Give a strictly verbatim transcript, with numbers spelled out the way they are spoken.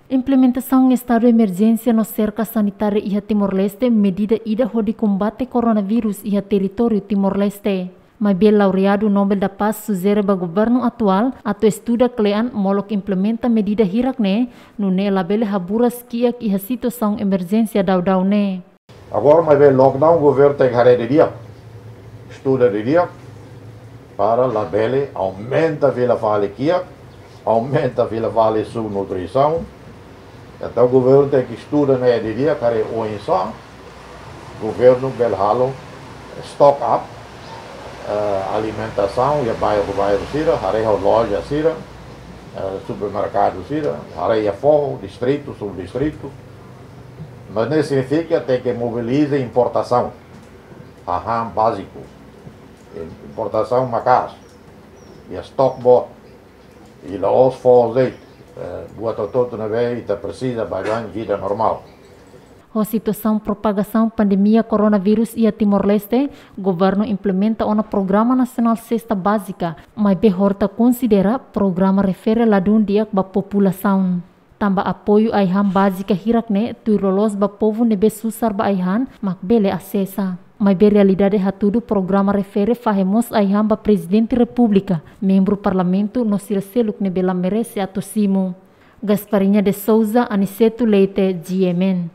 Implementasaun estadu emerjénsia no serka sanitária iha Timor-Leste medida ida hodi kombate koronavírus iha territóriu Timor-Leste. Maibé laureadu Nobel da Paz sujere ba governu atuál atu estuda kle'an molok implementa medida hirak-ne'e, nune'e labele haburas kiak iha situasaun emerjénsia daudaun ne'e. Agora maibé lockdown, governu tenke haree didi'ak, estuda didi'ak, para labele aumenta fila fali kiak, aumenta fila fali subnutrisaun. Entaun governu tenke estuda ne'e didi'ak, haree oinsá governu bele halo stock up, eh, alimentasaun iha bairru-bairru sira, haree ho loja sira, eh, supermerkadu sira, haree iha foho, distritu, subdistritu. Mas ne'e signifika tenke mobiliza importasaun, hahán báziku, importasaun maka'as, iha stock boot, i la'ós foho de'it, eh, buat hotu-hotu ne'ebé ita presiza ba baibain vida normál. Ho situasaun propagasaun pandemia koronavírus iha Timor-Leste, governu implementa ona Programa Nasionál Sesta Bázika, maibé horta konsidera programa refere ladún di'ak ba populasaun. Tanba apoiu ai-han bázika hirak-ne'e tuir loloos ba povu ne'ebé susar ba ai-han mak bele asesa. Maibé realidade hatudu programa refere fahe mós ai-han ba Prezidente Repúblika, membru Parlamentu no sira seluk ne'ebé la merese atu simu. Gasparinha de Souza, Aniceto Leite, G M N.